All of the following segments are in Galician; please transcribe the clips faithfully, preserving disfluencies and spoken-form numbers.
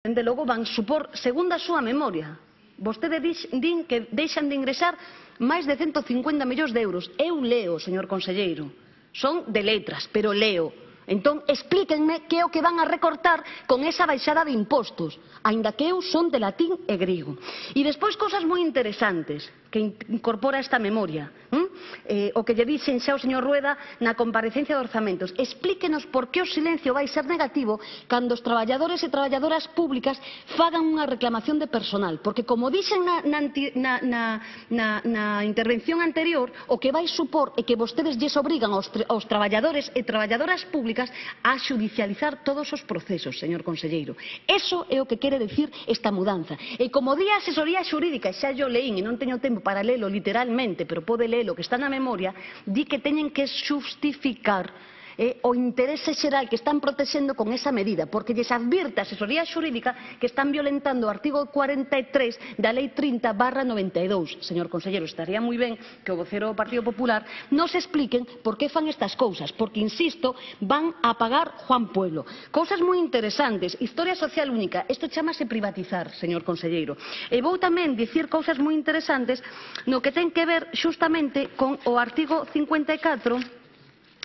Dende logo van supor, segundo a súa memoria, vostede din que deixan de ingresar máis de ciento cincuenta millóns de euros. Eu leo, señor conselleiro, son de letras, pero leo. Entón, explíquenme que é o que van a recortar con esa baixada de impostos, aínda que eu son de latín e griego. E despois, cousas moi interesantes que incorpora esta memoria, hm? eh, o que lle dixen xa o señor Rueda na comparecencia de orzamentos. Explíquenos por que o silencio vai ser negativo cando os traballadores e traballadoras públicas fagan unha reclamación de personal, porque como dixen na, na, na, na, na, na intervención anterior, o que vai supor é que vostedes lles obrigan aos, aos traballadores e traballadoras públicas a xudicializar todos os procesos, señor conselleiro. Eso é o que quere decir esta mudanza. E como di a asesoría xurídica, xa yo leín e non teño tempo para lelo literalmente, pero pode lelo que está na memoria, di que teñen que xustificar eh, o interese xeral que están protexendo con esa medida, porque lles advirte a asesoría xurídica que están violentando o artigo cuarenta e tres da lei trinta barra noventa e dous. Señor conselleiro, estaría moi ben que o vocero do Partido Popular nos expliquen por que fan estas cousas, porque, insisto, van a pagar Juan Pueblo. Cousas moi interesantes, historia social única, isto chamase privatizar, señor conselleiro. E vou tamén dicir cousas moi interesantes no que ten que ver xustamente con o artigo cincuenta e catro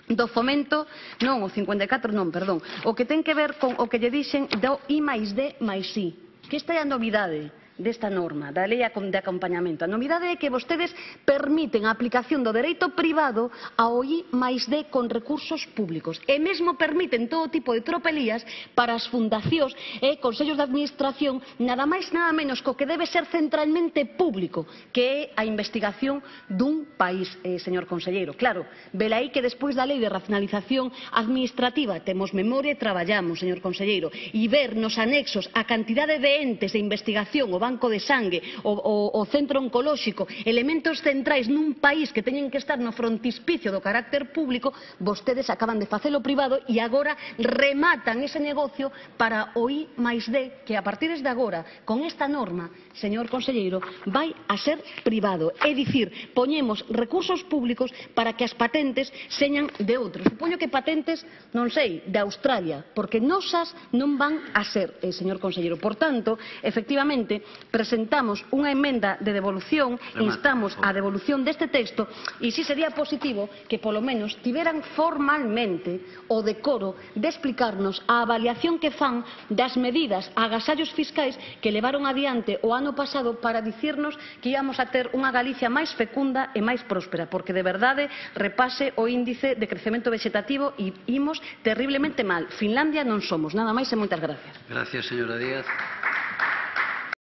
do fomento, non, o cincuenta e catro non, perdón, o que ten que ver con o que lle dixen do I máis D máis I, que esta é a novidade desta norma, da lei de acompañamento. A novidade é que vostedes permiten a aplicación do dereito privado ao I máis D con recursos públicos e mesmo permiten todo tipo de tropelías para as fundacións e consellos de administración, nada máis nada menos co que debe ser centralmente público, que é a investigación dun país, eh, señor conselleiro. Claro, velaí que despois da lei de racionalización administrativa temos memoria e traballamos, señor conselleiro, e ver nos anexos a cantidade de entes de investigación, o banco de sangue, o, o, o centro oncolóxico, elementos centrais nun país que teñen que estar no frontispicio do carácter público, vostedes acaban de facelo privado e agora rematan ese negocio para o I máis D, que a partir de agora, con esta norma, señor conselleiro, vai a ser privado. É dicir, poñemos recursos públicos para que as patentes señan de outros. Supoño que patentes, non sei, de Australia, porque nosas non van a ser, eh, señor conselleiro. Por tanto, efectivamente, presentamos unha emenda de devolución, instamos a devolución deste texto e si sería positivo que polo menos tiveran formalmente o decoro de explicarnos a avaliación que fan das medidas agasallos fiscais que levaron adiante o ano pasado para dicirnos que íamos a ter unha Galicia máis fecunda e máis próspera, porque de verdade repase o índice de crecemento vegetativo e imos terriblemente mal. Finlandia non somos. Nada máis e moitas gracias. Gracias, señora Díaz.